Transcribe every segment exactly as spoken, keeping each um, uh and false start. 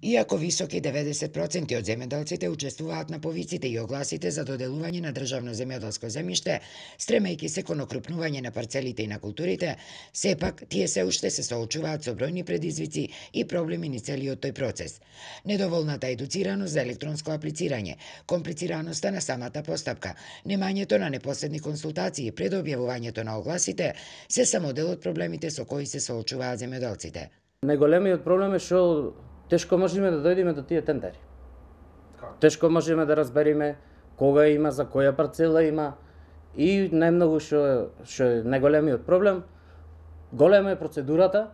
Иако високи деветдесет проценти од земјоделците учествуваат на повиците и огласите за доделување на државно земјоделско земјиште, стремејќи се кон окрупнување на парцелите и на културите, сепак тие се уште се соочуваат со бројни предизвици и проблеми низ целиот тој процес. Недоволната едуцираност за електронско аплицирање, комплицираноста на самата постапка, немањето на непоследни консултации пред објавувањето на огласите се само дел од проблемите со кои се соочуваат земјоделците. Најголемиот проблем е што тешко можеме да дојдеме до тие тендери. Тешко можеме да разбериме кога има, за која парцела има и најмногу што што е најголемиот проблем, голема е процедурата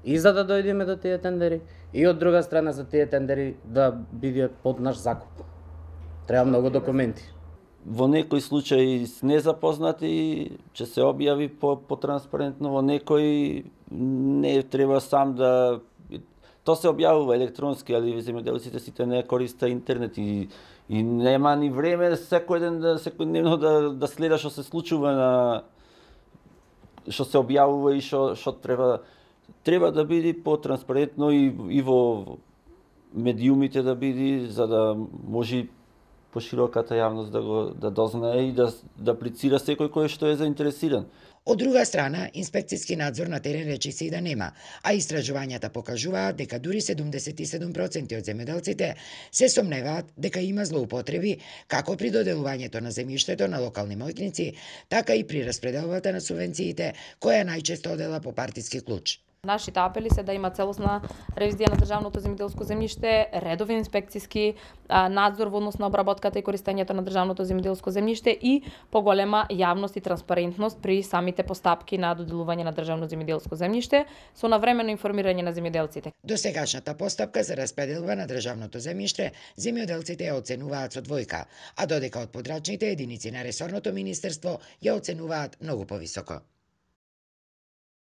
и за да дојдеме до тие тендери и од друга страна за тие тендери да бидат под наш закуп. Треба многу документи. Во некои случаи незапознати ќе се објави по, по транспарентно, во некои не треба сам да то се објавува електронски, али земјоделците сите не користат интернет и, и нема ни време секој ден да секојдневно да да следа што се случува на што се објавува и што што треба треба да биде потранспарентно и и во медиумите да биде за да може пошироката јавност да го да дознае и да да аплицира секој кој што е заинтересиран. Од друга страна, инспекцијски надзор на терен речи се и да нема, а истражувањата покажуваат дека дури седумдесет и седум проценти од земјоделците се сомневаат дека има злоупотреби како при доделувањето на земјиштето на локални мојкници, така и при распределбата на субвенциите, која најчесто одела по партиски клуч. Нашите апели се да има целосна ревизија на државното земјоделско земјиште, редовен инспекцијски надзор во однос на обработката и користењето на државното земјоделско земјиште и поголема јавност и транспарентност при самите постапки на доделување на државно земјоделско земјиште со навремено информирање на земјоделците. До сегашната постапка за распределба на државното земјиште, земјоделците ја оценуваат со двојка, а додека од подрачните единици на ресорното министерство ја оценуваат многу повисоко.